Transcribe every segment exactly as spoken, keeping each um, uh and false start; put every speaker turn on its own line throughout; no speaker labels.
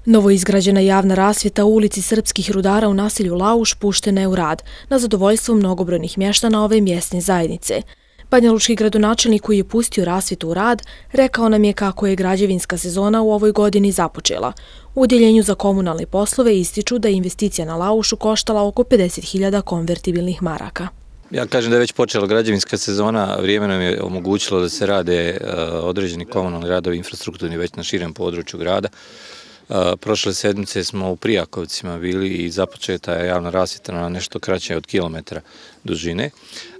Novoizgrađena javna rasvjeta u ulici Srpskih rudara u naselju Lauš puštena je u rad na zadovoljstvo mnogobrojnih mještana ove mjesne zajednice. Banjalučki gradonačelnik koji je pustio rasvjetu u rad rekao nam je kako je građevinska sezona u ovoj godini započela. U udjeljenju za komunalne poslove ističu da je investicija na Laušu koštala oko pedeset hiljada konvertibilnih maraka.
Ja kažem da je već počela građevinska sezona, vrijeme nam je omogućilo da se rade određeni komunalni radovi infrastrukturni već na širem području grada. Prošle sedmice smo u Prijakovcima bili i započeta je javna rasvjeta na nešto kraće od kilometra dužine,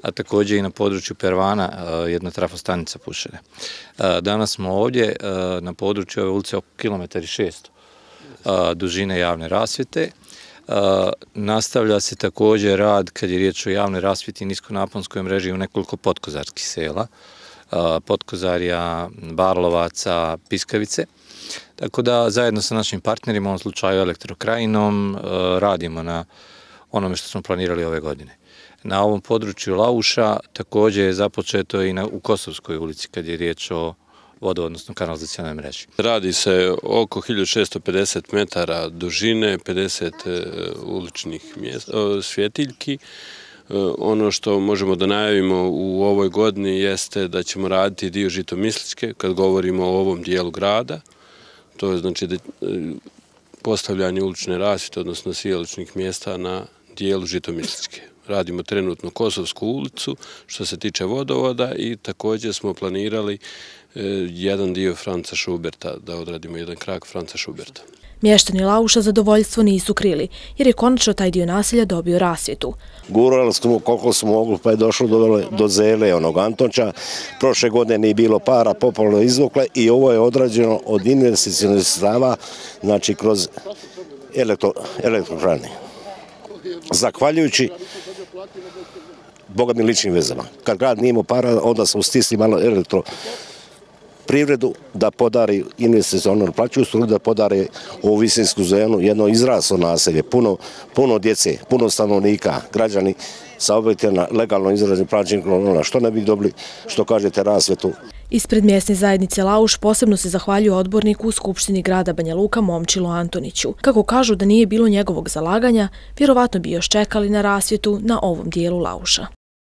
a također i na području Pervana jedna trafostanica pušena. Danas smo ovdje na području ove ulice oko kilometar i šesto dužine javne rasvjete. Nastavlja se također rad kad je riječ o javnoj rasvjeti i niskonaponskoj mreži u nekoliko podkozarskih sela, Podkozarja, Barlovaca, Piskavice. Tako da zajedno sa našim partnerima, u ovom slučaju Elektrokrajinom, radimo na onome što smo planirali ove godine. Na ovom području Lauša također je započeto i u Kosovskoj ulici kad je riječ o vodo, odnosno kanalizacionoj mreži.
Radi se oko hiljadu šesto pedeset metara dužine, pedeset uličnih svjetiljki. Ono što možemo da najavimo u ovoj godini jeste da ćemo raditi dio Žitomisličke kad govorimo o ovom dijelu grada. To je znači postavljanje ulične rasvjete, odnosno sijaličnih mjesta na dijelu Žitomisličke. Radimo trenutno Kosovsku ulicu što se tiče vodovoda i također smo planirali jedan dio Franca Šuberta, da odradimo jedan krak Franca Šuberta.
Mještani Lauša zadovoljstvo nisu krili, jer je konačno taj dio naselja dobio rasvjetu.
Gurali smo koliko smo mogli, pa je došlo do, do Zele, onog Antonča. Prošle godine nije bilo para, popolno izvukle i ovo je odrađeno od investicionih sredstava, znači kroz elektro, elektrokrane. Zahvaljujući bogatnim ličnim vezama. Kad grad nije imao para, onda smo stisli malo elektro privredu da podari investicionalnu plaću struju, da podari ovu visinsku zonu jedno izraslo naselje, puno, puno djece, puno stanovnika, građani sa objektima legalno izraženim plaćenim, što ne bi dobili, što kažete, rasvjetu.
Ispred mjesne zajednice Lauš posebno se zahvaljuje odborniku u Skupštini grada Banja Luka Momčilu Antoniću. Kako kažu da nije bilo njegovog zalaganja, vjerovatno bi još čekali na rasvjetu na ovom dijelu Lauša.